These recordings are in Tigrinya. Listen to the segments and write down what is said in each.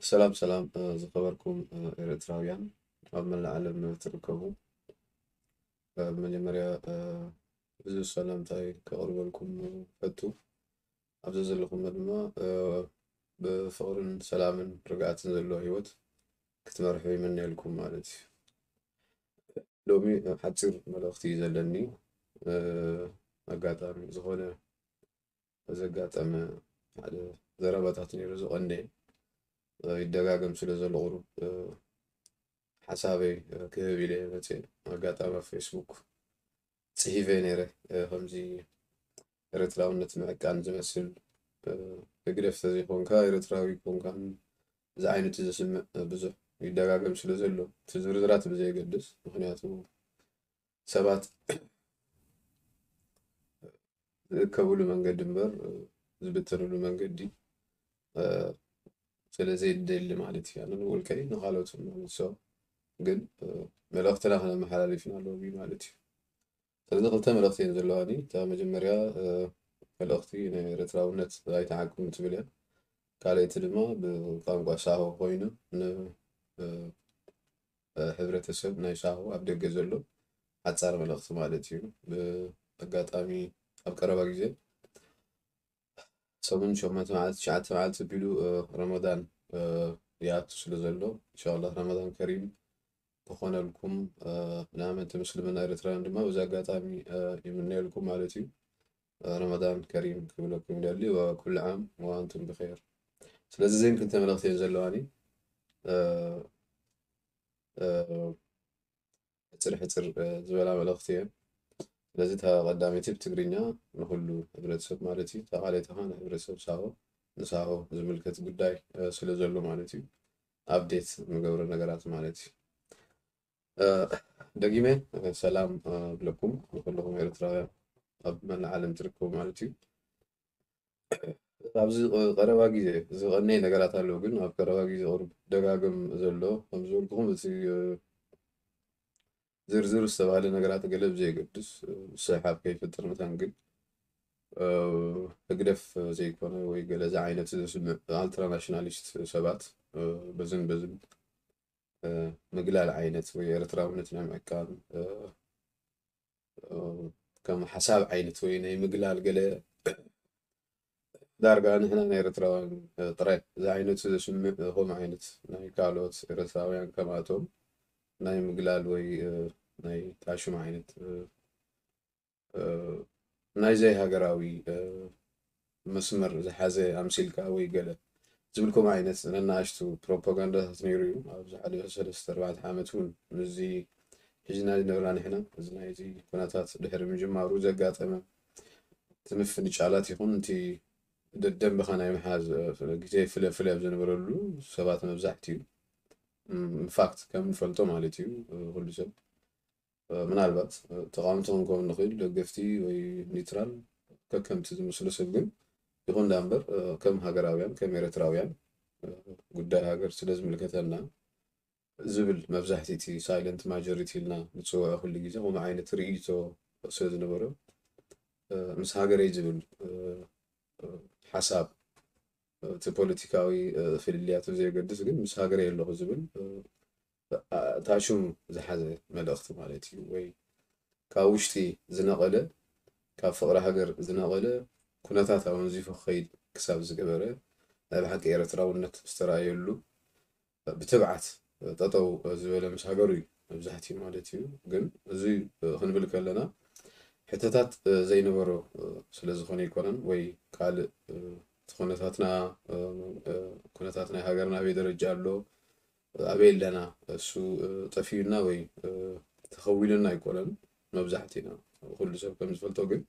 ሰላም ሰላም፣ ዝኸበርኩም ኤርትራውያን ኣብ መላእ ዓለም ትርከቡ፣ ብመጀመርያ ብዙሕ ሰላምታይ ከቕርበልኩም ፈቱ። ኣብዚ ዘለኹም ድማ ብፍቕርን ሰላምን ርግኣትን ዘለዎ ህይወት ክትመርሑ ይምነየልኩም ማለት እዩ። ሎሚ ሓፂር መልእኽቲ እዩ ዘለኒ። ኣጋጣሚ ዝኾነ ዘጋጠመ ሓደ ዘረባታት ነይሩ፣ ዝቐነየ ይደጋገም ስለ ዘሎ ቁሩብ ሓሳበይ ክህብ ኢለ መፅየ። ኣጋጣሚ ኣብ ፌስቡክ ፅሒፈ ነይረ፣ ከምዚ ኤርትራውነት ምዕቃን ዝመስል፣ ህግደፍ ተዘይኮንካ ኤርትራዊ ኮንካን ዝዓይነቱ ዘስምዕ ብዙሕ ይደጋገም ስለ ዘሎ፣ እቲ ዝርዝራት ብዘየገድስ፣ ምክንያቱ ሰባት ዝእከብሉ መንገዲ እምበር ዝብተንሉ መንገዲ ስለ ዘይደሊ ማለት እዩ። ኣነ ንውልቀይ ንኻልኦት ንመልሶ ግን መልእኽትና ክነመሓላልፍ ኢና ሎሚ ማለት እዩ። ስለዚ ክልተ መልእኽቲ እየን ዘለዋኒ። እታ መጀመርያ መልእኽቲ ናይ ኤርትራውነት ኣይተዓቅብን ትብል እያ። ካልኣይቲ ድማ ብቋንቋ ሳሆ ኮይኑ ን ሕብረተሰብ ናይ ሳሆ ኣብ ደገ ዘሎ ሓጻር መልእኽቲ ማለት እዩ። ብኣጋጣሚ ኣብ ቀረባ ግዜ ሰሙን ሸሞንተ መዓልቲ ትሽዓተ መዓልቲ ቢሉ ረመዳን ይኣቱ ስለ ዘሎ፣ ኢንሻላህ ረመዳን ከሪም ክኾነልኩም ንኣመንቲ ምስልምና ኤርትራውያን ድማ በዚ ኣጋጣሚ ይምነየልኩም ማለት እዩ። ረመዳን ከሪም ክብለኩም ይደሊ። ወኩሉ ዓም ወኣንቱም ብኸይር። ስለዚ እዘን ክልተ መልእኽቲ እየን ዘለዋኒ። ሕፅር ሕፅር ዝበላ መልእኽቲ እየን። ስለዚ እታ ቀዳመይቲ ብትግርኛ ንኹሉ ሕብረተሰብ ማለት እዩ። እታ ካልኣይቲ ከዓ ንሕብረተሰብ ሳሆ፣ ንሳሆ ዝምልከት ጉዳይ ስለ ዘሎ ማለት እዩ። ኣፕዴት ንገብሮ ነገራት ማለት እዩ። ደጊመ ሰላም ብለኩም ንኩለኹም ኤርትራውያን ኣብ መላእ ዓለም ትርከቡ ማለት እዩ። ኣብዚ ቀረባ ግዜ ዝቐነየ ነገራት ኣለዉ፣ ግን ኣብ ቀረባ ግዜ ቁሩብ ደጋግም ዘሎ ከም ዝበልኩኹም እቲ ዝርዝር ዝተባህለ ነገራት ገለ ብዘየገድስ ስሕሓብ ከይፈጥር መታን ግን ህግደፍ ዘይኮነ ወይ ገለ ዝዓይነት ዘስምዕ ኣልትራናሽናሊስት ሰባት በዝን በዝን ምግላል ዓይነት ወይ ኤርትራውነት ናይ ምዕቃብ ከም ሓሳብ ዓይነት ወይ ናይ ምግላል ገለ ዳርጋ ንሕና ናይ ኤርትራውያን ጥራይ ዝዓይነቱ ዘስምዕ ከምኡ ዓይነት ናይ ካልኦት ኤርትራውያን ከማቶም ናይ ምግላል ወይ ናይ ጣሽም ዓይነት ናይ ዘይሃገራዊ መስመር ዝሓዘ ኣምሲልካ ወይ ገለ ዝብል ከምኡ ዓይነት ነናእሽቱ ፕሮፓጋንዳታት ነይሩ እዩ። ኣብ ዝሓለፈ ሰለስተ ኣርባዕተ ዓመት እውን ምስዚ ሒዝና ዝነበርና ንሕና እዚ ናይዚ ኩነታት ድሕሪ ምጅማሩ ዘጋጠመ እቲ ምፍንጫላት ይኹን እቲ ደደንበኻ ናይ ምሓዝ ግዜ ፍለ ፍለ ኣብ ዝነበረሉ ሰባት መብዛሕትኡ ኢንፋክት ከም ንፈልጦ ማለት እዩ ኩሉ ሰብ ምናልባት ተቃወምቲ ክንከውን ንኽእል፣ ደገፍቲ ወይ ኒውትራል ከከምቲ ዝመስሎ ሰብ ግን ይኹን ዳ እምበር ከም ሃገራውያን ከም ኤርትራውያን ጉዳይ ሃገር ስለ ዝምልከተና ዝብል መብዛሕቲ እቲ ሳይለንት ማጆሪቲ ኢልና ንፅውዖ ኩሉ ግዜ ከምኡ ዓይነት ርእይቶ ስለ ዝነበሮ ምስ ሃገረይ ዝብል ሓሳብ እቲ ፖለቲካዊ ፍልልያት ብዘየገድስ ግን ምስ ሃገረይ ኣለኹ ዝብል እታ ሽም ዝሓዘ መልእኽቲ ማለት እዩ። ወይ ካብ ውሽጢ ዝነቐለ ካብ ፍቕሪ ሃገር ዝነቐለ ኩነታት ኣወንዚፉ ክኸይድ ክሳብ ዝገበረ ናይ ብሓቂ ኤርትራውነት ዝተራእየሉ ብትብዓት ጠጠው ዝበለ ምስ ሃገሩ እዩ መብዛሕትኡ ማለት እዩ። ግን እዚ ክንብል ከለና ሕቶታት ዘይነበሮ ስለ ዝኾነ ኣይኮነን ወይ ካልእ እቲ ኩነታትና ኩነታት ናይ ሃገርና ኣበይ ደረጃ ኣሎ ኣበይ ኣለና እሱ ጠፊኡና ወይ ተኸዊሉና ኣይኮነን። መብዛሕትእና ኩሉ ሰብ ከም ዝፈልጦ ግን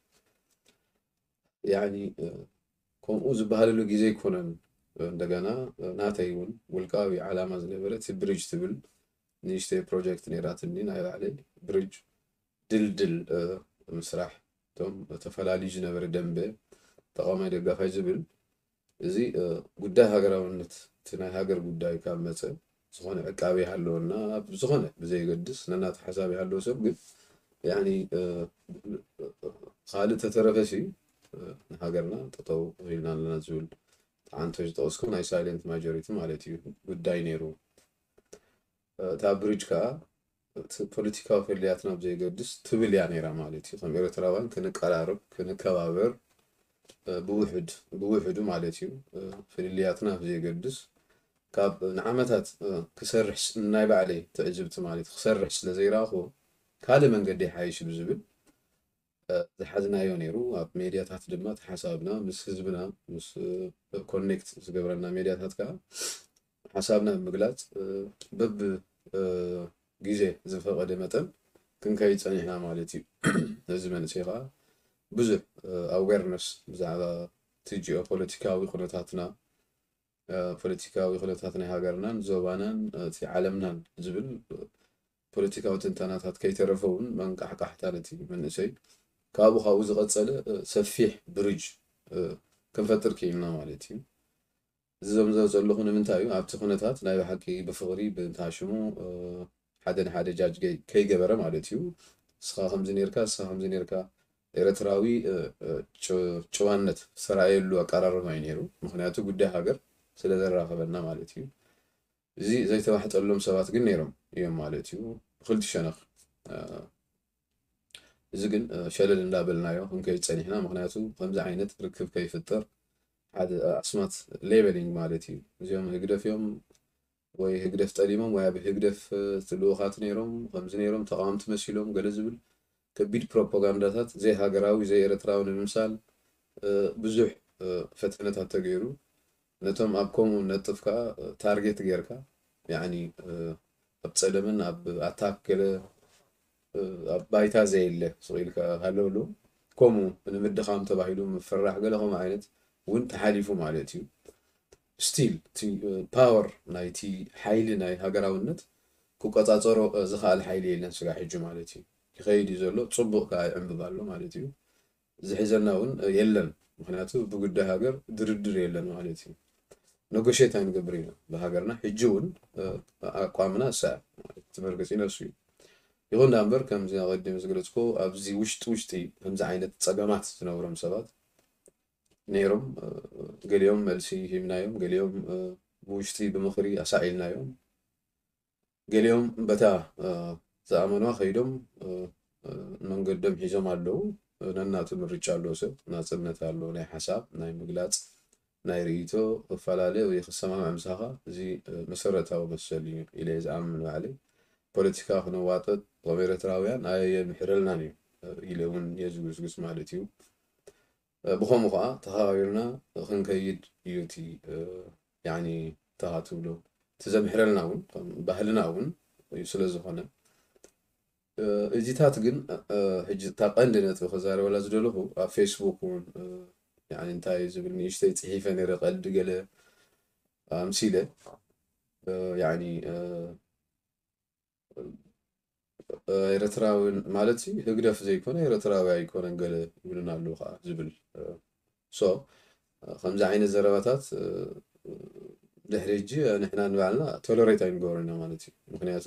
ያኒ ከምኡ ዝበሃለሉ ግዜ ኣይኮነን። እንደገና ናተይ እውን ውልቃዊ ዓላማ ዝነበረ እቲ ብሪጅ ትብል ንእሽተይ ፕሮጀክት ነይራትኒ ናይ ባዕለይ ብሪጅ ድልድል ምስራሕ እቶም ተፈላልዩ ዝነበረ ደንበ ተቃዋማይ ደጋፋይ ዝብል እዚ ጉዳይ ሃገራውነት እቲ ናይ ሃገር ጉዳይ ካብ መፀ ዝኾነ ዕቃበ ይሃለወና ኣብ ዝኾነ ብዘየገድስ ነናተ ሓሳብ ይሃለዎ ሰብ ግን ያኒ ካልእ ተተረፈሲ ንሃገርና ጠጠው ኢልና ኣለና ዝብል ኣንተ ዝጠቕስኩ ናይ ሳይለንት ማጆሪቲ ማለት እዩ ጉዳይ ነይሩ። እታ ብሪጅ ከዓ እቲ ፖለቲካዊ ፍልልያትና ብዘይገድስ ትብል እያ ነይራ ማለት እዩ። ከም ኤርትራውያን ክንቀራረብ፣ ክንከባበር፣ እ፣ ብውሕድ፣ ብውሕዱ ማለት እዩ፣ እ፣ ፍልልያትና ብዘይገድስ ካብ ንዓመታት፣ እ፣ ክሰርሕ ስ-፣ ናይ ባዕለይ ትዕዝብቲ ማለት እዩ፣ ክሰርሕ ስለ ዘይረኣኹ ካልእ መንገዲ ይሓይሽ ብዝብል፣ እ፣ ዝሓዝናዮ ነይሩ። ኣብ ሜድያታት ድማ ተሓሳብና ምስ ህዝብና፣ ምስ፣ እ፣ ኮኔክት ዝገብረና ሜድያታት ከዓ ሓሳብና ብምግላጽ፣ እ፣ በብ፣ እ፣ ግዜ ዝፈቐደ መጠን ክንከይድ ጸኒሕና ማለት እዩ። እዚ መንእሰይ ከዓ ብዙሕ፣ እ፣ ኣዌርነስ ብዛዕባ እቲ ጂኦፖለቲካዊ ኩነታትና፣ እ፣ ፖለቲካዊ ኩነታት ናይ ሃገርናን ዞባናን፣ እ፣ እቲ ዓለምናን ዝብል፣ እ፣ ፖለቲካዊ ትንተናታት ከይተረፈ እውን መንቃሕቃሕታ ነቲ መንእሰይ ካብኡ ካብኡ ዝቐጸለ፣ እ፣ ሰፊሕ ብሪጅ፣ እ፣ ክንፈጥር ክኢልና ማለት እዩ። እዚ ዘምዘ ዘለኹ ንምንታይ እዩ? ኣብቲ ኩነታት ናይ ብሓቂ ብፍቕሪ፣ ብእንታ ሽሙ፣ እ፣ ሓደ ንሓደ ጃጅ ገይ-፣ ከይገበረ ማለት እዩ። ንስኻ ከምዚ ኔርካ፣ ንስኻ ከምዚ ኔርካ፣ ኤርትራዊ፣ እ፣ እ፣ ጭ-፣ ጭዋነት ዝተራእየሉ ኣቀራርባ እዩ ነይሩ። ምኽንያቱ ጉዳይ ሃገር ስለ ዘራኸበና ማለት እዩ። እዚ ዘይተዋሕጠሎም ሰባት ግን ነይሮም እዮም ማለት እዩ። ብኽልቲ ሸነኽ፣ እ፣ እዚ ግን፣ እ፣ ሸለል እንዳበልናዮ ክንከይድ ጸኒሕና። ምኽንያቱ ከምዚ ዓይነት ርክብ ከይፍጠር ሓደ፣ እ፣ ኣስማት ሌበሊንግ ማለት እዩ። እዚኦም ህግደፍ እዮም ወይ ህግደፍ ጠሊሞም ወይ ኣብ ህግደፍ፣ እ፣ ልኡኻት ነይሮም፣ ከምዚ ነይሮም፣ ተቃወምቲ መሲሎም ገለ ዝብል ከቢድ ፕሮፓጋንዳታት ዘይሃገራዊ፣ ዘይኤርትራዊ ንምምሳል፣ እ፣ ብዙሕ፣ እ፣ ፈተነታት ተገይሩ። ነቶም ኣብ ከምኡ ነጥፍ ከኣ፣ እ፣ ታርጌት ጌርካ፣ ያዕኒ፣ እ፣ ኣብ ጸለምን ኣብ ኣታክ ገለ፣ እ፣ ኣብ ባይታ ዘየለ ስቕ ኢልካ ሃለውሉ፣ ከምኡ ንምድኻም ተባሂሉ ምፍራሕ ገለ ከምኡ ዓይነት እውን ተሓሊፉ ማለት እዩ። ስቲል እቲ፣ እ፣ ፓወር ናይቲ ሓይሊ ናይ ሃገራውነት ክቆጻጸሮ፣ እ፣ ዝኸኣል ሓይሊ የለን ስጋብ ሕጂ ማለት እዩ። ይኸይድ እዩ ዘሎ፣ ጽቡቕ ከኣ ይዕንብብ ኣሎ ማለት እዩ። ዝሕዘና እውን፣ እ፣ የለን። ምኽንያቱ ብጉዳይ ሃገር ድርድር የለን ማለት እዩ። ነጎሼት ኣይንገብር ኢና ብሃገርና። ሕጂ እውን፣ እ፣ ኣቋምና እሳ እያ ማለት እቲ መርገጺ ነሱ እዩ። ይኹን ደኣ እምበር ከምዚ ኣቐዲመ ዝገለጽኩ ኣብዚ ውሽጢ ውሽጢ ከምዚ ዓይነት ጸገማት ዝነብሮም ሰባት ነይሮም። እ፣ ገሊኦም መልሲ ሂብናዮም፣ ገሊኦም፣ እ፣ ብውሽጢ ብምኽሪ ኣሳኢልናዮም። ገሊኦም በታ፣ እ፣ ዝኣመንዋ ከይዶም፣ እ፣ እ፣ መንገዶም ሒዞም ኣለዉ። እ፣ ነናቱ ምርጫ ኣለዎ። ሰብ ናጽነት ኣለዎ፣ ናይ ሓሳብ፣ ናይ ምግላጽ፣ ናይ ርእይቶ ክፈላለ ወይ ክሰማማዕ ምሳኻ። እዚ፣ እ፣ መሰረታዊ መሰል እዩ ኢለ እየ ዝኣምን ባዕለይ። ፖለቲካ ክነዋጥጥ ከም ኤርትራውያን ኣየምሕረልናን እዩ፣ እ፣ ኢለ እውን እየ ዝጉስጉስ ማለት እዩ። እ፣ ብኸምኡ ኸዓ ተኸባቢርና ክንከይድ እዩ እቲ፣ እ፣ ያኒ፣ ተኻ ትብሎ፣ እቲ ዘምሕረልና እውን፣ ከም ባህልና እውን እዩ ስለ ዝኾነ። እ፣ እዚታት ግን፣ እ፣ ሕጂ እታ ቀንዲ ነጥቢ ክዛረበላ ዝደለኹ፣ ኣብ ፌስቡክ እውን፣ እ፣ ያኒ፣ እንታይ ዝብል ንእሽተይ ጽሒፈ ነይረ፣ ቀልዲ ገለ ኣምሲለ፣ እ፣ ያኒ፣ እ፣ ኤርትራዊ ማለት ሲ ህግደፍ ዘይኮነ ኤርትራዊ ኣይኮነን ገለ ይብሉና ኣለዉ ከዓ ዝብል። ሶ ከምዚ ዓይነት ዘረባታት ድሕሪ ሕጂ ንሕና ንባዕልና ቶለሬት ኣይንገብሮና ማለት እዩ። ምክንያቱ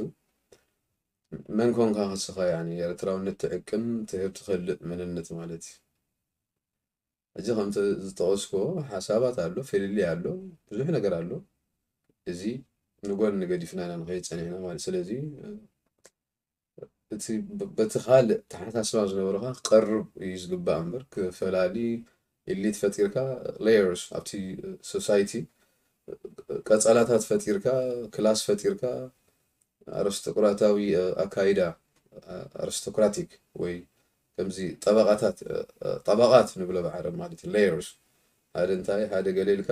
መን ኮንካ ከስኻ ያኒ ኤርትራውነት ትዕቅን ትህብ ትኸልእ መንነት ማለት እዩ። እዚ ከምቲ ዝጠቐስኩዎ ሓሳባት ኣሎ፣ ፍልልይ ኣሎ፣ ብዙሕ ነገር ኣሎ። እዚ ንጎኒ ገዲፍና ኢና ንኸይድ ጸኒሕና ማለት። ስለዚ እቲ ብ-፣ በቲ ካልእ ተሓሳስባ ዝነበረኻ ክቐርብ እዩ ዝግባእ እምበር፣ ክፈላሊ ኤሊት ፈጢርካ፣ ሌየርስ ኣብቲ ሶሳይቲ ቀጸላታት ፈጢርካ፣ ክላስ ፈጢርካ፣ ኣሪስቶክራታዊ፣ እ፣ ኣካይዳ፣ እ፣ ኣሪስቶክራቲክ ወይ ከምዚ ጠበቓታት፣ እ፣ እ፣ ጠበቓት ንብሎ ብዓረብ ማለት እዩ፣ ሌየርስ። ሓደ እንታይ፣ ሓደ ገለ ኢልካ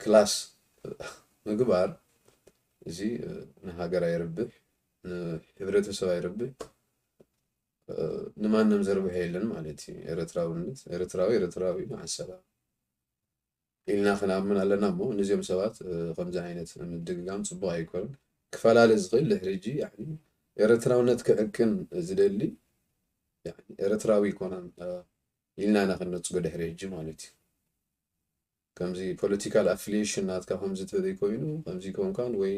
ክላስ ምግባር፣ እዚ፣ እ፣ ንሃገር ኣይርብሕ፣ ንሕብረተሰብ ኣይርብሕ፣ እ፣ ንማንም ዘርብሖ የለን ማለት እዩ። ኤርትራውነት፣ ኤርትራዊ፣ ኤርትራዊ፣ መዓሰላ። ኢልና ክንኣምን ኣለና እሞ፣ ነዚኦም ሰባት፣ እ፣ ከምዚ ዓይነት ምድግጋም ጽቡቕ ኣይኮነን። ክፈላለ ዝኽእል ድሕሪ ሕጂ፣ ያኒ፣ ኤርትራውነት ክዕቅን ዝደሊ፣ ያኒ፣ ኤርትራዊ ኣይኮነን፣ እ፣ ኢልና ኢና ክንነጽጎ ድሕሪ ሕጂ ማለት እዩ። ከምዚ ፖለቲካል ኣፊሊዬሽን ናትካ ከምዚ ተዘይኮይኑ፣ ከምዚ ኮንካን ወይ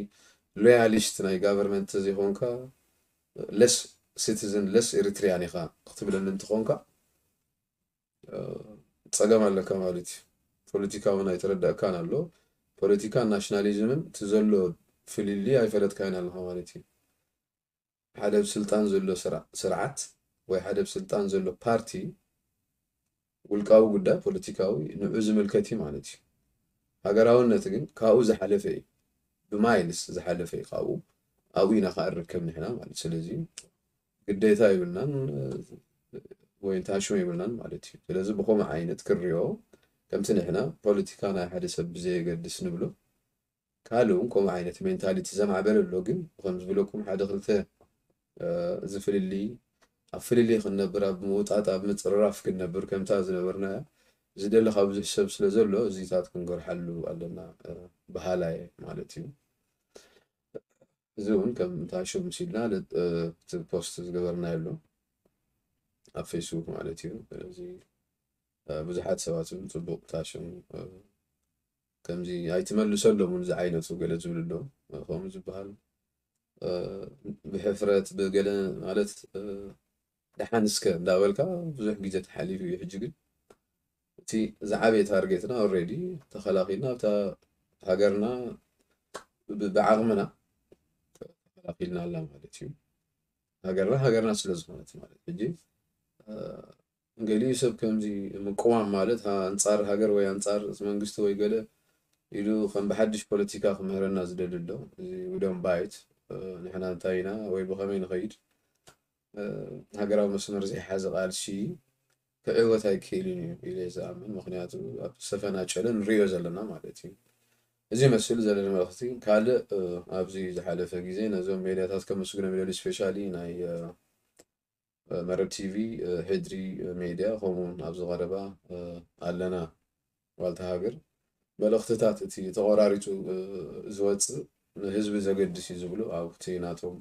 ሎያሊስት ናይ ጋቨርንመንት ተዘይኮንካ፣ ለስ ሲቲዝን፣ ለስ ኤሪትሪያን ኢኻ ክትብለኒ እንትኾንካ፣ እ፣ ጸገም ኣለካ ማለት እዩ። ፖለቲካ እውን ኣይተረዳእካን ኣሎ። ፖለቲካን ናሽናሊዝምን እቲ ዘሎ ፍልልይ ኣይፈለጥካዮን ኣለኻ ማለት እዩ። ሓደ ኣብ ስልጣን ዘሎ ስራ-፣ ስርዓት ወይ ሓደ ኣብ ስልጣን ዘሎ ፓርቲ ውልቃዊ ጉዳይ ፖለቲካዊ ንዑ ዝምልከት እዩ ማለት እዩ። ሃገራውነት ግን ካብኡ ዝሓለፈ እዩ። ብማይልስ ዝሓለፈ እዩ ካብኡ። ኣብኡ ኢና ከዓ ንርከብ ንሕና ማለት። ስለዚ ግዴታ ይብልናን ወይ ታሽሙ ይብልናን ማለት እዩ። ስለዚ ብኸምኡ ዓይነት ክሪኦ ከምቲ ንሕና ፖለቲካ ናይ ሓደ ሰብ ብዘየገድስ ንብሎ ካልእ እውን ከምኡ ዓይነት ሜንታሊቲ ዘማዕበለ ኣሎ። ግን ከም ዝብለኩም ሓደ ክልተ፣ እ፣ እዚ ፍልልይ ኣብ ፍልልይ ክንነብር ኣብ ምውጣጥ ኣብ ምጽርራፍ ክንነብር ከምታ ዝነበርና ዝደሊ ካብ ብዙሕ ሰብ ስለ ዘሎ እዚታት ክንገርሓሉ ኣለና፣ እ፣ በሃላ እየ ማለት እዩ። እዚ እውን ከም ታሽም ሲልና ለ-፣ እ፣ እቲ ፖስት ዝገበርና ኣሎ ኣብ ፌስቡክ ማለት እዩ። ስለዚ፣ እ፣ ብዙሓት ሰባት እውን ጽቡቕ ታሽም፣ እ፣ ከምዚ ኣይትመልሰሎም እውን ዝዓይነቱ ገለ ዝብሉ ኣለዉ። እ፣ ከምኡ ዝበሃል፣ እ፣ ብሕፍረት ብገለ ማለት፣ እ፣ ደሓን እስከ እንዳበልካ ብዙሕ ግዜ ተሓሊፉ እዩ። ሕጂ ግን እቲ ዝዓበየ ታርጌትና ኦልሬዲ ተኸላኺልና ኣብታ ሃገርና ብ-፣ ብዓቕምና ተኸላኺልና ኣላ ማለት እዩ። ሃገርና ሃገርና ስለ ዝኾነት ማለት። ሕጂ፣ እ፣ ገሊኡ ሰብ ከምዚ ምቅዋም ማለት፣ ኣ-፣ ኣንጻር ሃገር ወይ ኣንጻር መንግስቲ ወይ ገለ ኢሉ ከም ብሓድሽ ፖለቲካ ክምህረና ዝደሊ ኣሎ። እዚ we don't buy it። እ፣ ንሕና እንታይ ኢና ወይ ብኸመይ ንኸይድ፣ እ፣ ሃገራዊ መስመር ዘይሓዘ ቃልሲ ክዕወት ኣይክእልን እዩ ኢለ እየ ዝኣምን። ምኽንያቱ ኣብ ዝተፈናጨለ ንሪኦ ዘለና ማለት እዩ። እዚ ይመስል ዘለና መልእኽቲ። ካልእ፣ እ፣ ኣብዚ ዝሓለፈ ግዜ ነዞም ሜድያታት ከመስግኖም ይደሊ፣ ስፔሻሊ ናይ፣ እ፣ እ፣ መረብ ቲቪ፣ እ፣ ሕድሪ፣ እ፣ ሜድያ፣ ከምኡውን ኣብዚ ቀረባ፣ እ፣ ኣለና ዋልታ ሃገር። መልእኽትታት እቲ ተቖራሪጹ፣ እ፣ ዝወጽእ ንህዝቢ ዘገድስ እዩ ዝብሉ ኣብቲ ናቶም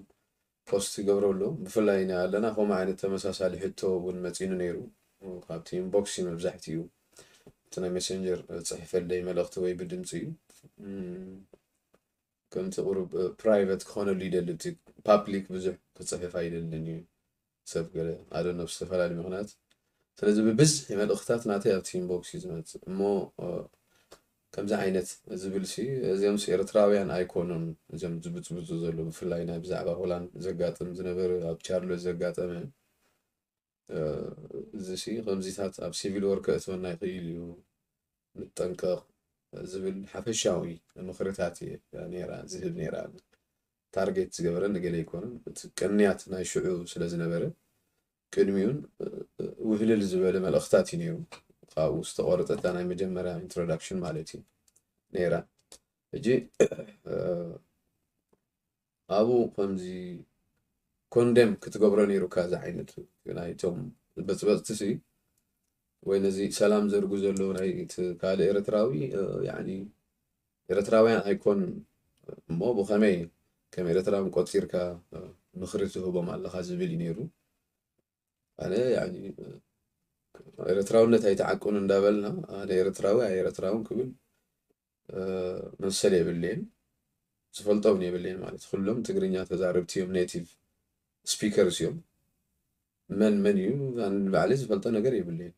ፖስት ይገብሩ ኣለዉ። ብፍላይ ናይ ኣለና ከምኡ ዓይነት ተመሳሳሊ ሕቶ እውን መጺኑ ነይሩ። ካብቲ ኢንቦክስ እዩ መብዛሕትኡ። እቲ ናይ ሜሴንጀር፣ እ፣ ጽሕፈለይ መልእኽቲ ወይ ብድምጺ እዩ። እም፣ ከምቲ ቁሩብ፣ እ፣ ፕራይቨት ክኾነሉ ይደሊ፣ እቲ ፓብሊክ ብዙሕ ክጽሕፍ ኣይደልን እዩ ሰብ ገለ፣ ኣደኖ ብዝተፈላለዩ ምኽንያት። ስለዚ ብብዝሒ መልእኽትታት ናተይ ኣብቲ ኢንቦክስ እዩ ዝመጽእ። እሞ፣ እ፣ ከምዚ ዓይነት ዝብልሲ፣ እዚኦምስ ኤርትራውያን ኣይኮኑን፣ እዚኦም ዝብጽብጹ ዘለዉ፣ ብፍላይ ናይ ብዛዕባ ሆላንድ ዘጋጥም ዝነበረ፣ ኣብ ቻርሎት ዘጋጠመ፣ እ፣ እዚሲ ከምዚታት ኣብ ሲቪል ወር ከእትወና ይኽእል እዩ፣ ንጠንቀቕ ዝብል ሓፈሻዊ ምኽርታት እየ ነይራ ዝህብ ነይራ። ታርጌት ዝገበረ ንገለ ኣይኮነን። እቲ ቅንያት ናይ ሽዑ ስለ ዝነበረ፣ ቅድሚኡን፣ እ፣ እ፣ ውህልል ዝበለ መልእኽታት እዩ ነይሩ። ካብኡ ዝተቖረጸ እታ ናይ መጀመርያ ኢንትሮዳክሽን ማለት እዩ ነይራ። ሕጂ፣ እ፣ ኣብኡ ከምዚ ኮንደም ክትገብሮ ነይሩካ፣ እዚ ዓይነት ናይቶም በጽበጽቲ ሲ፣ ወይ ነዚ ሰላም ዘርጉ ዘለዉ ናይ እቲ ካልእ ኤርትራዊ፣ እ፣ ያዕኒ ኤርትራውያን ኣይኮን እሞ ብኸመይ ከም ኤርትራዊ ቆጺርካ፣ እ፣ ምኽሪ ትህቦም ኣለኻ ዝብል እዩ ነይሩ። ኣነ ያዕኒ፣ እ፣ ኤርትራውነት ኣይተዓቅኑ እንዳበልና ኣነ ኤርትራዊ ኣይ ኤርትራውን ክብል፣ እ፣ መሰል የብለይን። ዝፈልጦም የብለይን ማለት ኩሎም ትግርኛ ተዛረብቲ እዮም፣ ኔቲቭ ስፒከርስ እዮም። መን መን እዩ ኣነ ንባዕለይ ዝፈልጦ ነገር የብለይን።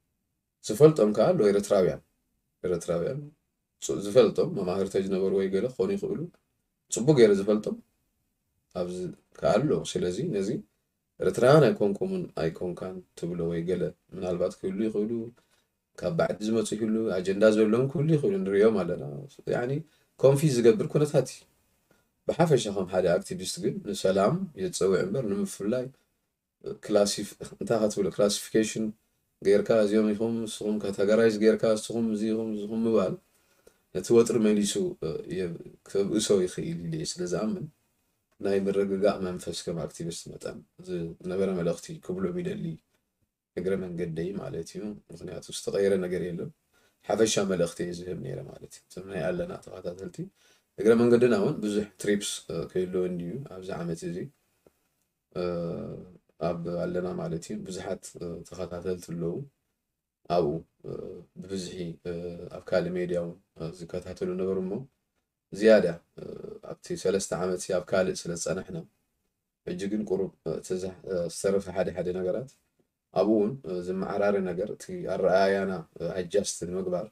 ዝፈልጦም ከኣ ኣለዉ ኤርትራውያን፣ ኤርትራውያን ፅ-፣ ዝፈልጦም መማህርተይ ዝነበሩ ወይ ገለ ክኾኑ ይኽእሉ፣ ጽቡቅ ገይረ ዝፈልጦም ኣብዚ ከኣ ኣለዉ። ስለዚ ነዚ ኤርትራውያን ኣይኮንኩምን ኣይኮንካን ትብሎ ወይ ገለ ምናልባት ክህሉ ይኽእሉ፣ ካብ ባዕዲ ዝመጹ ይህሉ፣ ኣጀንዳ ዘለዎም ክህሉ ይኽእሉ፣ ንሪኦም ኣለና። ያኒ ኮንፊዝ ዝገብር ኩነታት እዩ። ብሓፈሻ ከም ሓደ ኣክቲቪስት ግን ንሰላም የጸውዕ እምበር ንምፍላይ ክላሲፍ-፣ እንታይ ክትብሎ፣ ክላሲፊኬሽን ጌርካ እዚኦም ኢኹም፣ ንስኹም ካተጎራይዝ ጌርካ ንስኹም እዚ ኢኹም፣ ንስኹም ምባል ነቲ ወጥሪ መሊሱ፣ እ፣ የ-፣ ከብእሶ ይኽእል ኢለ እየ ስለ ዝኣምን፣ ናይ ምርግጋእ መንፈስ ከም ኣክቲቪስት መጠን ዝነበረ መልእኽቲ ክብሎም ይደሊ፣ እግረ መንገደይ ማለት እዩ። ምኽንያቱ ዝተቐየረ ነገር የለን። ሓፈሻ መልእኽቲ እየ ዝህብ ነይረ ማለት እዩ። እቶም ናይ ኣለና ተኸታተልቲ እግረ መንገድና እውን ብዙሕ ትሪፕስ፣ እ፣ ክህልወኒ እዩ ኣብዚ ዓመት እዚ። እ፣ ኣብ ኣለና ማለት እዩ ብዙሓት፣ እ፣ ተኸታተልቲ ኣለዉ። ኣብኡ፣ እ፣ ብብዝሒ፣ እ፣ ኣብ ካልእ ሜድያ እውን፣ እ፣ ዝከታተሉ ነበሩ እሞ ዝያዳ፣ እ፣ ኣብቲ ሰለስተ ዓመት ኣብ ካልእ ስለ ዝጸናሕና፣ ሕጂ ግን ቁሩብ፣ እ፣ እቲ ዝሕ-፣ እ፣ ዝተረፈ ሓደ ሓደ ነገራት ኣብኡ እውን፣ እ፣ ዝመዓራረ ነገር እቲ ኣረኣእያና፣ እ፣ ኣጃስት ንምግባር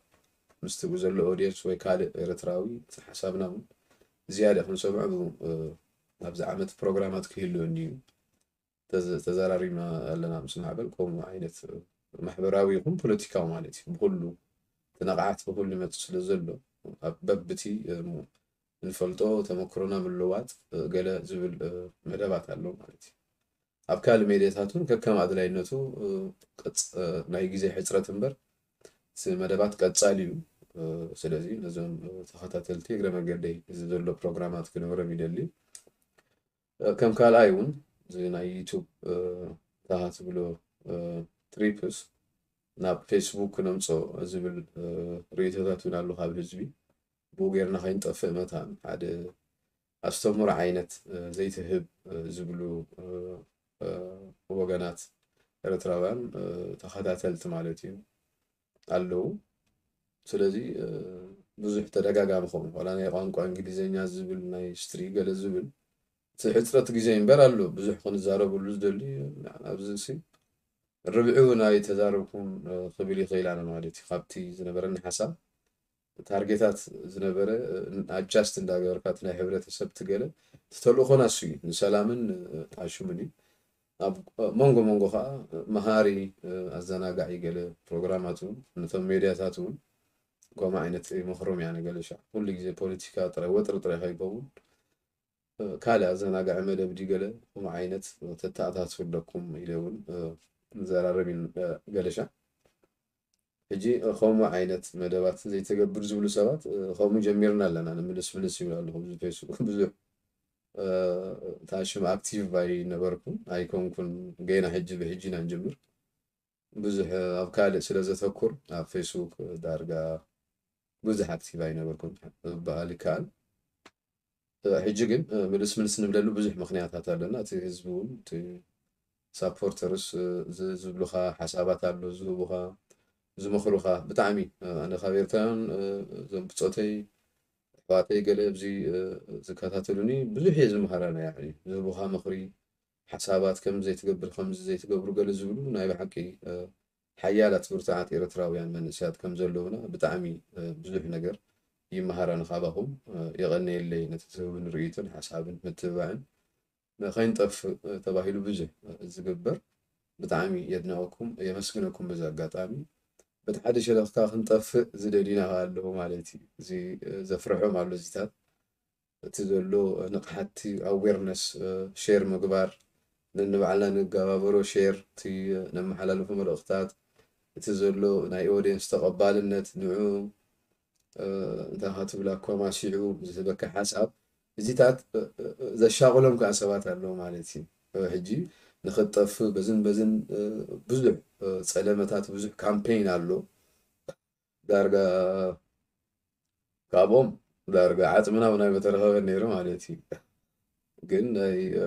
ምስቲ ዘሎ ኦድየንስ ወይ ካልእ ኤርትራዊ ሓሳብና እውን ዝያዳ ክንሰምዖ ብ-፣ እ፣ ኣብዚ ዓመት ፕሮግራማት ክህልወኒ እዩ። ተዘ-፣ ተዘራሪብና ኣለና ምስ ማዕበል፣ ከምኡ ዓይነት ማሕበራዊ ይኹን ፖለቲካዊ ማለት እዩ። ብኹሉ እቲ ነቕዓት ብኹሉ ይመጽእ ስለ ዘሎ፣ ኣብ በብቲ፣ እ፣ ንፈልጦ ተመክሮና ምልዋጥ፣ እ፣ ገለ ዝብል፣ እ፣ መደባት ኣሎ ማለት እዩ። ኣብ ካልእ ሜድያታት እውን ከከም ኣድላይነቱ፣ እ፣ ቅጽ-፣ እ፣ ናይ ግዜ ሕጽረት እምበር እቲ መደባት ቀጻሊ እዩ። እ፣ ስለዚ ነዞም፣ እ፣ ተኸታተልቲ እግረ መገደይ እዚ ዘሎ ፕሮግራማት ክነግሮም ይደሊ። እ፣ ከም ካልኣይ እውን እዚ ናይ ዩቱብ፣ እ፣ ታሃ ትብሎ፣ እ፣ ትሪፕስ ናብ ፌስቡክ ክነምጾ ዝብል፣ እ፣ ርእይቶታት እውን ኣሎ ካብ ህዝቢ። ብኡ ጌርና ከይንጠፍእ መታን ሓደ ኣስተምህሮ ዓይነት፣ እ፣ ዘይትህብ፣ እ፣ ዝብሉ፣ እ፣ እ፣ ወገናት ኤርትራውያን፣ እ፣ ተኸታተልቲ ማለት እዩ ኣለዉ። ስለዚ፣ እ፣ ብዙሕ ተደጋጋሚ ኸውን ዋላ ናይ ቋንቋ እንግሊዝኛ ዝብል ናይ ስትሪ ገለ ዝብል እቲ ሕጽረት ግዜ እምበር ኣሎ ብዙሕ ክንዛረበሉ ዝደሊ ኣብዚ ሲ ርብዒ እውን ኣይተዛረብኩን፣ እ፣ ክብል ይኽእል ኣነ ማለት እዩ። ካብቲ ዝነበረኒ ሓሳብ ታርጌታት ዝነበረ፣ እ፣ ኣድጃስት እንዳገበርካ እቲ ናይ ሕብረተሰብ ትገለ እቲ ተልእኾና እሱ እዩ። ንሰላምን፣ እ፣ ኣሽሙን እዩ። ኣብ መንጎ መንጎ ከዓ መሃሪ፣ እ፣ ኣዘናጋዒ ገለ ፕሮግራማት እውን ነቶም ሜድያታት እውን ከምኡ ዓይነት ይመኽሮም እያ። ንገለ ሻዕ ኩሉ ግዜ ፖለቲካ ጥራይ ወጥሪ ጥራይ ከይከውን፣ እ፣ ካልእ ኣዘናጋዒ መደብ ድዩ ገለ ከምኡ ዓይነት ተተኣታትፉ ኣለኩም ኢለ እውን፣ እ፣ ንዘራረብ ኢና፣ እ፣ ገለ ሻዕ። ሕጂ፣ እ፣ ከምኡ ዓይነት መደባት ዘይተገብር ዝብሉ ሰባት፣ እ፣ ከምኡ ጀሚርና ኣለና። ንምልስ ምልስ ይብሉ ኣለኹ። ብዙ ፌስቡክ ብዙሕ፣ እ፣ ታሽም ኣክቲቭ ኣይነበርኩን፣ ኣይኮንኩን። ገና ሕጂ ብሕጂ ኢና ንጅምር። ብዙሕ፣ እ፣ ኣብ ካልእ ስለ ዘተኩር ኣብ ፌስቡክ፣ እ፣ ዳርጋ ብዙሕ ኣክቲቭ ኣይነበርኩን ክበሃል ይከኣል። እ፣ ሕጂ ግን፣ እ፣ ምልስ ምልስ ንብለሉ ብዙሕ ምኽንያታት ኣለና። እቲ ህዝቢ እውን፣ እቲ ሳፖርተርስ፣ እ፣ ዝ-፣ ዝብሉኻ ሓሳባት ኣሎ፣ ዝህቡኻ፣ ዝመኽሩኻ። ብጣዕሚ፣ እ፣ ኣነ ካብ ኤርትራውያን፣ እ፣ እዞም ብጾተይ፣ ኣሕዋተይ ገለ ኣብዚ፣ እ፣ ዝከታተሉኒ ብዙሕ እየ ዝመሃራ ናይ ባዕለይ። ዝህቡኻ ምኽሪ፣ ሓሳባት ከምዚ ዘይትገብር፣ ከምዚ ዘይትገብሩ ገለ ዝብሉ ናይ ብሓቂ፣ እ፣ ሓያላት ብርቱዓት ኤርትራውያን መንእሰያት ከም ዘለዉና ብጣዕሚ፣ እ፣ ብዙሕ ነገር ይመሃራ ንካባኹም። እ፣ የቐንየለይ ነቲ ትህቡኒ ርእይቶን ሓሳብን ምትብባዕን። ን-፣ ከይንጠፍእ፣ እ፣ ተባሂሉ ብዙሕ፣ እ፣ ዝግበር ብጣዕሚ የድንቐኩም፣ የመስግነኩም። በዚ ኣጋጣሚ በቲ ሓደ ሸነኽካ ክንጠፍእ ዝደልዩና ከኣ ኣለዉ ማለት እዩ። እዚ፣ እ፣ ዘፍርሖም ኣሎ እዚታት። እቲ ዘሎ ንቕሓት፣ እቲ ኣዌርነስ፣ እ፣ ሼር ምግባር፣ ነንባዕልና ንገባበሮ ሼር፣ እቲ፣ እ፣ ነመሓላልፎ መልእኽታት፣ እቲ ዘሎ ናይ ኦድየንስ ተቐባልነት፣ ንዑ፣ እ፣ እንታይ ኻ ትብል፣ ኣኮማሲዑ ዝህበካ ሓሳብ፣ እዚታት፣ እ፣ እ፣ እ፣ ዘሻቕሎም ከኣ ሰባት ኣለዉ ማለት እዩ። እ፣ ሕጂ ንኽትጠፍእ በዝን በዝን፣ እ፣ ብዙሕ፣ እ፣ ጸለመታት፣ ብዙሕ ካምፔይን ኣሎ። ዳርጋ ካብኦም ዳርጋ ዓጽምና እውን ኣይምተረኸበን ነይሩ ማለት እዩ። ግን ናይ፣ እ፣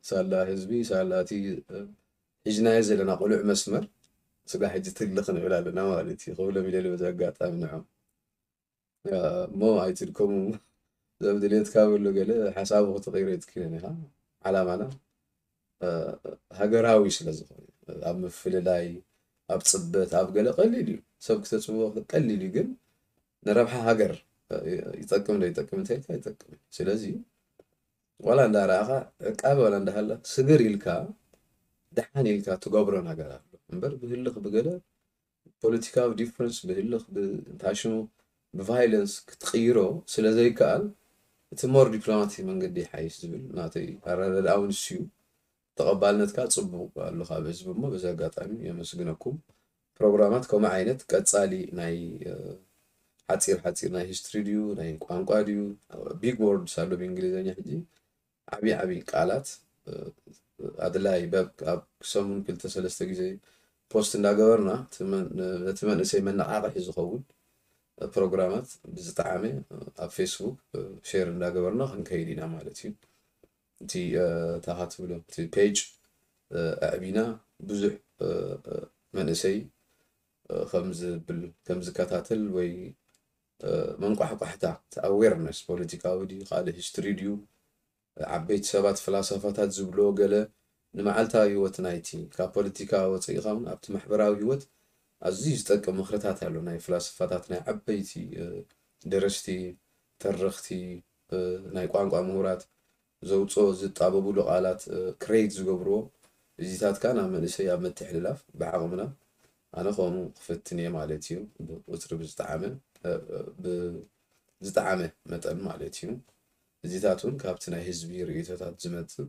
ሳላ ህዝቢ፣ ሳላ እቲ፣ እ፣ ሒዝናዮ ዘለና ቅሉዕ መስመር፣ ስጋ ሕጂ ትልኽ ንብል ኣለና ማለት እዩ። ክብሎም ይደሊ በዚ ኣጋጣሚ ንዖም። እ፣ እሞ ኣይትድከሙ። ዘብ ድሌትካ በሎ ገለ ሓሳቡ ክትቕይሮ ኣይትክእልን ኢኻ። ዓላማና፣ እ፣ ሃገራዊ ስለ ዝኾነ፣ ኣብ ምፍልላይ፣ ኣብ ጽበት፣ ኣብ ገለ ቀሊል እዩ። ሰብ ክተጽብቦ ቀሊል እዩ፣ ግን ንረብሓ ሃገር፣ እ፣ ይጠቅም ዶ ይጠቅም እንተኢልካ ኣይጠቅምን። ስለዚ ዋላ እንዳረኣኻ ዕቃበ ዋላ እንዳሃላ ስግር ኢልካ ደሓን ኢልካ ትገብሮ ነገር ኣሎ እምበር ብህልኽ ብገለ ፖለቲካዊ ዲፍረንስ ብህልኽ ብታሽሙ ብቫይለንስ ክትቕይሮ ስለ ዘይከኣል እቲ ሞር ዲፕሎማሲ መንገዲ ይሓይሽ ዝብል ናተይ ኣረዳድኣ እውን እሱ እዩ። ተቐባልነትካ ጽቡቕ ኣሎ ካብ ህዝቢ እሞ በዚ ኣጋጣሚ የመስግነኩም። ፕሮግራማት ከምኡ ዓይነት ቀጻሊ ናይ፣ እ፣ ሓጺር ሓጺር ናይ ሂስትሪ ድዩ ናይ ቋንቋ ድዩ ቢግ ወርድስ ኣሎ ብእንግሊዝኛ ሕጂ ዓብዪ ዓብዪ ቃላት፣ እ፣ ኣድላይ በብ ኣብ ሰሙን ክልተ ሰለስተ ግዜ ፖስት እንዳገበርና እቲ መን-፣ ነቲ መንእሰይ መነቓቕሒ ዝኸውን ፕሮግራማት ብዝጠዓመ ኣብ ፌስቡክ ሼር እንዳገበርና ክንከይድ ኢና ማለት እዩ። እቲ፣ እ፣ ታኻ ትብሎ እቲ ፔጅ፣ እ፣ ኣዕቢና ብዙሕ፣ እ፣ እ፣ መንእሰይ፣ እ፣ ከም ዝብል፣ ከም ዝከታተል ወይ፣ እ፣ መንቋሕቋሕታ እቲ ኣዌርነስ ፖለቲካዊ ድዩ ካልእ ሂስትሪ ድዩ ዓበይቲ ሰባት ፍላሰፋታት ዝብልዎ ገለ ንመዓልታዊ ህይወት ናይቲ ካብ ፖለቲካ ወፂእኻ እውን ኣብቲ ማሕበራዊ ህይወት ኣዝዩ ዝጠቅም ምኽርታት ኣሎ። ናይ ፍላስፋታት፣ ናይ ዓበይቲ ደረስቲ፣ ተረኽቲ፣ ናይ ቋንቋ ምሁራት ዘውፅኦ ዝጣበብሉ ቃላት ክሬት ዝገብርዎ፣ እዚታት ከኣ ናብ መንእሰይ ኣብ ምትሕልላፍ ብዓቕምና ኣነ ከምኡ ክፍትን እየ ማለት እዩ። ብቁፅሪ ብዝጠዓመ ብዝጠዓመ መጠን ማለት እዩ። እዚታት እውን ካብቲ ናይ ህዝቢ ርእይቶታት ዝመፅእ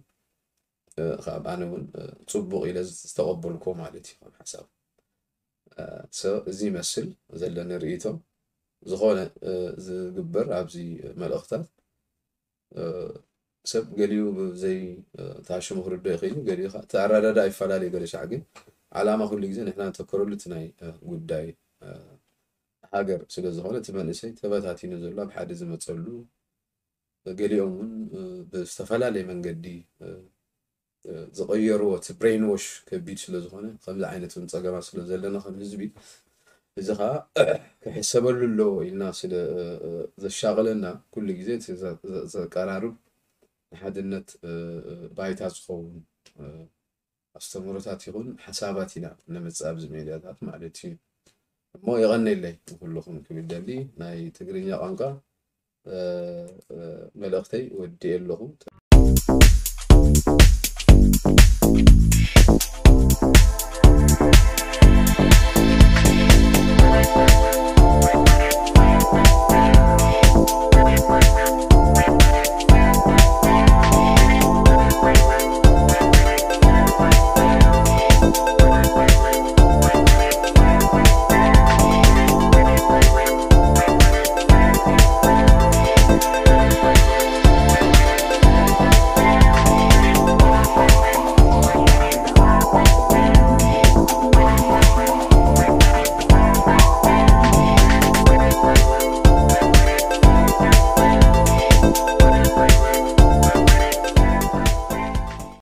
ካብ ኣነ እውን ፅቡቕ ኢለ ዝተቐበልኮ ማለት እዩ ከም ሓሳብ። እዚ ይመስል ዘለኒ ርእይቶ። ዝኾነ ዝግበር ኣብዚ መልእኽታት ሰብ ገሊኡ ብዘይ ታሽሙ ክርዶ ይኽእል እዩ፣ ገሊኡ ከዓ እቲ ኣረዳዳ ይፈላለዩ። ገለ ሻዕ ግን ዓላማ ኩሉ ግዜ ንሕና ንተኮረሉ እቲ ናይ ጉዳይ ሃገር ስለ ዝኾነ እቲ መንእሰይ ተበታቲኑ ዘሎ ኣብ ሓደ ዝመፀሉ፣ ገሊኦም እውን ብዝተፈላለየ መንገዲ ዝቐየርዎ፣ እቲ ብሬንዎሽ ከቢድ ስለ ዝኾነ፣ ከምዚ ዓይነት እውን ፀገማት ስለ ዘለና ከም ህዝቢ፣ እዚ ከዓ ክሕሰበሉ ኣለዎ ኢልና ስለ ዘሻቕለና፣ ኩሉ ግዜ እቲ ዘ- ዘ- ዘቀራርብ ንሓድነት ባይታ ዝኸውን ኣስተምህሮታት ይኹን ሓሳባት ኢና ነምፅእ ኣብዚ ሜድያታት ማለት እዩ። እሞ የቐነለይ ንኩልኹም ክብል ደሊ። ናይ ትግርኛ ቋንቋ መልእኽተይ ወዲኤ ኣለኹ።